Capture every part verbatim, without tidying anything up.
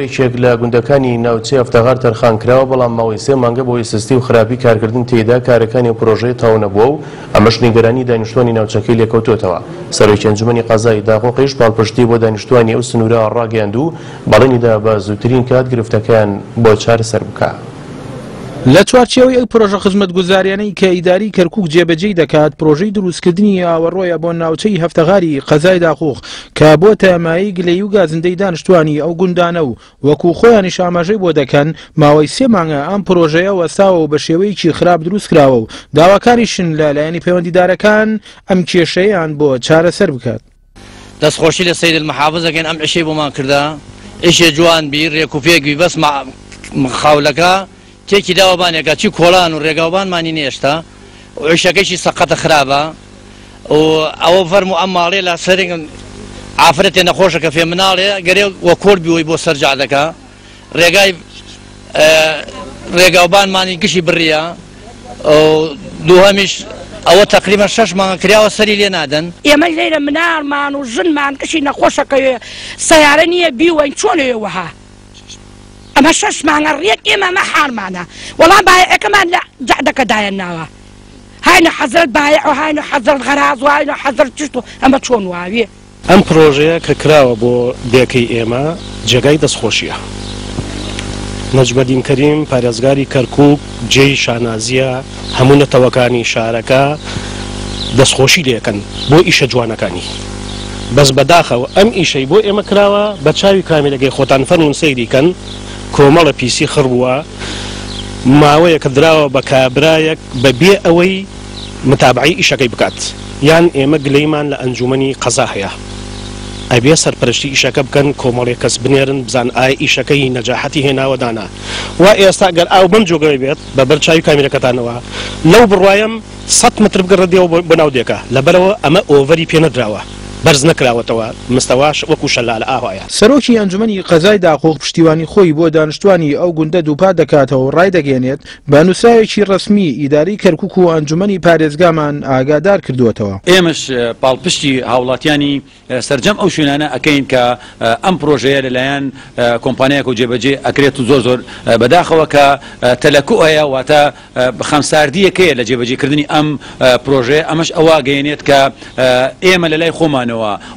یەکێک لە گوندەکانی ناوچەی هەفتەغار تەرخان کراوە، بەڵام ماوەی سێ مانگە بۆی سستی و خراپی کارکردن تێیدا کارەکانی پرۆژەی تەواو نەبووە و ئەمەش نیگەرانی دانیشتوانی ناوچەکەی لێکەوتووەتەوە. سەرۆکی ئەنجومەنی قەزای داقوقیش پاڵپشتی بۆ دانیشتوانی ئەو سنوورە ڕاگەیاند و بەڵێنیدا بە زووترین کات گرفتەکەیان بۆ چارەسەر بکا. لە چوارچێوەی ئەو پرۆژە خزمەتگوزاریانەی کە ئیداری کەرکوک جێبەجێی دەکات، پرۆژەی دروستکردنی ئاوەڕۆیە بۆ ناوچەی هەفتەغاری قەزای داقوق کە بۆتە مایەی گلەیی و گازندەی دانیشتوانی ئەو گوندانە و وەکو خۆیانیش ئاماژەی بۆ دەکەن ماوەی سێ مانگە ئەم پرۆژەیە وەستاوە و بە شێوەیەکی خراپ دروست کراوە و داواکاریشن لە لایەنی پەیوەندیدارەکان ئەم کێشەیان بۆ چارەسەر بکات. دەستخۆشی لە سەید المحافظ ئەکەین ئەم ئیشەی بۆمان کردە، ئیشێ جوان بی، ڕێک و پێک بی، بەس خاولەکە تێکی داوەبانێکە چی کۆڵان و ڕێگاوبانمانی نێشتا و عیشەکەشی سەقەتە خراپە و ئەوە فەرموو ئەم ماڵێ لە سەرێک ئافرەتێ نەخۆشەکە فێ مناڵێ گەرێ وە کۆر بیوەی بۆ سەرجا دەکا، ڕێگای ڕێگاوبانمانی گشی بڕیە و دووهەمیش ئەوە تقریبا شەش مانگە کراوە سەری لێ نادەن. ئێمە لێرە مناڵمان و ژنمان کەشی نەخۆشەکەوێ سەیارە نییە بیوەین چۆنەوێ وەها ئەمە شەش مانگە ڕێک ئێمە ئەمە حاڵمانە، وەڵام بایعەکەمان لە جەعدەکە دایەناوە، هاینە حەزرەت بایع و هاینە حەزرەت غەراز و هاینە حەزرەت چشت و ئەمە چۆن واوێ. ئەم پرۆژەیە کە کراوە بۆ دێکەی ئێمە جێگای دەستخۆشیە. نەجمەدین کەریم پارێزگاری کەرکوک جێی شانازیە، هەموو نەتەوەکانی شارەکە دەستخۆشی لێکەن بۆ ئیشە جوانەکانی. بەس بەداخەوە ئەم ئیشەی بۆ ئێمە کراوە بە چاوی کامیرەکەی خۆتان فەرمونون سەیری کەن، کۆمەڵە پیسی خڕ بووە، ماوەیەکە دراوە بە کابرایەک بەبێ ئەوەی متابعەی ئیشەکەی بکات. یان ئێمە گلەیمان لە ئەنجومەنی قەزا هەیە، ئەبێ سەرپەرشتی ئیشەکە بکەن، کۆمەڵێک کەس بنێرن بزان ئایا ئیشەکەی نەجاحەتی هێناوە دانا. وا ئێستا ئەگەر ئاو بەم جۆگەوە بێت بە بەر چاوی کامیرەکەتانەوە لەو بڕوایم سەد متر بگەڕە دێوە بۆ ناو دێکە، لەبەرەوە ئەمە ئۆڤەری پێ نەدراوە، بەرز نەکراوەتەوە، مستەواش وەکو شەلالە ئاوایە. سەرۆکی ئەنجومەنی قەزای داقوق پشتیوانی خۆی بۆ دانیشتوانی ئەو گوندە دووپات دەکاتەوە و ڕایدەگەیەنێت بە نووسراوێکی ڕەسمی ئیداری کەرکوک و ئەنجومەنی پارێزگامان ئاگادار کردووەتەوە. ئێمەش پاڵپشتی هاوڵاتیانی سەرجەم ئەو شوێنانە ئەکەین کە ئەم پرۆژەیە لەلایەن کۆمپانیایەک و جێبەجێ ئەکرێت و زۆر زۆر بەداخەوە کە تەلەکو هەیە، واتە خەمساردیەکەیە لە جێبەجێکردنی ئەم پرۆژەیە. ئەمەش ئەوە گەیەنێت کە ئێمە لەلای خۆمانەوە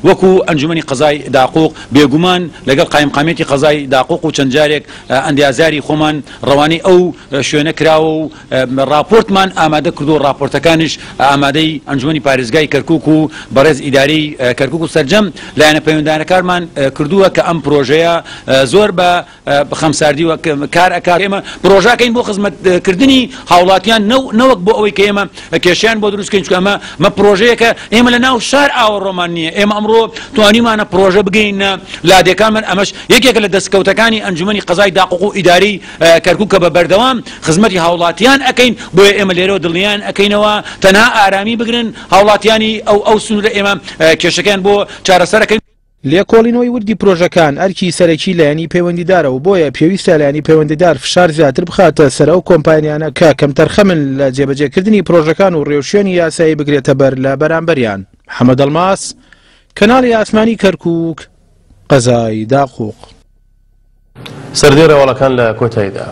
وەکو ئەنجومەنی قەزای داقوق بێگومان لەگەڵ قایمقامیەتی قەزای داقوق و چەند جارێک ئەندازیاری خۆمان ڕەوانەی ئەو شوێنە کراوە و راپۆرتمان ئامادە کردو، راپۆرتەکانیش ئامادەی ئەنجومەنی پارێزگای کەرکوک و بەڕێز ئیداری کەرکوک و سەرجەم لایەنە پەیوەندانەکارمان کردووە کە ئەم پرۆژەیە زۆر بە خەمساردی و کار ئەکات. ئێمە پرۆژەکەین بۆ خزمەتکردنی هاوڵاتیان نەوەک بۆ ئەوەی کە ئێمە کێشیان بۆ دروستکەین، چونکە ئەمە مە پرۆژەیەکە ئێمە لە ناو شار ئاوەڕۆمان نییە. ئێمە ئەمڕۆ توانیمانە پرۆژە بگەینە لادێکانمان، ئەمەش یەکێکە لە دەستکەوتەکانی ئەنجومەنی قەزای داقوق و ئیداری کەرکوک کە بە بەردەوام خزمەتی هاوڵاتیان ئەکەین. بۆیە ئێمە لێرەوە دڵنیان ئەکەینەوە تەنها ئارامی بگرن هاوڵاتیانی ئەو ئەو سنوورە ئێمە کێشەکەیان بۆ چارەسەرەکەین. لێکۆڵینەوەی وردی پرۆژەکان ئەرکی سەرەکی لایەنی پەیوەندیدارە و بۆیە پێویستە لایەنی پەیوەندیدار فشار زیاتر بخاتە سەر ئەو کۆمپانیانە کە کەمتەرخەمن لە جێبەجێکردنی پرۆژەکان و ڕێوشوێنی یاسایی بگرێتە بەر لە بەرامبەریان. محەممەد ئەڵماس، کەناڵی ئاسمانی کەرکوک، قەزای داقوق. سەردێ ڕەواڵەکان لە کۆتاییدا.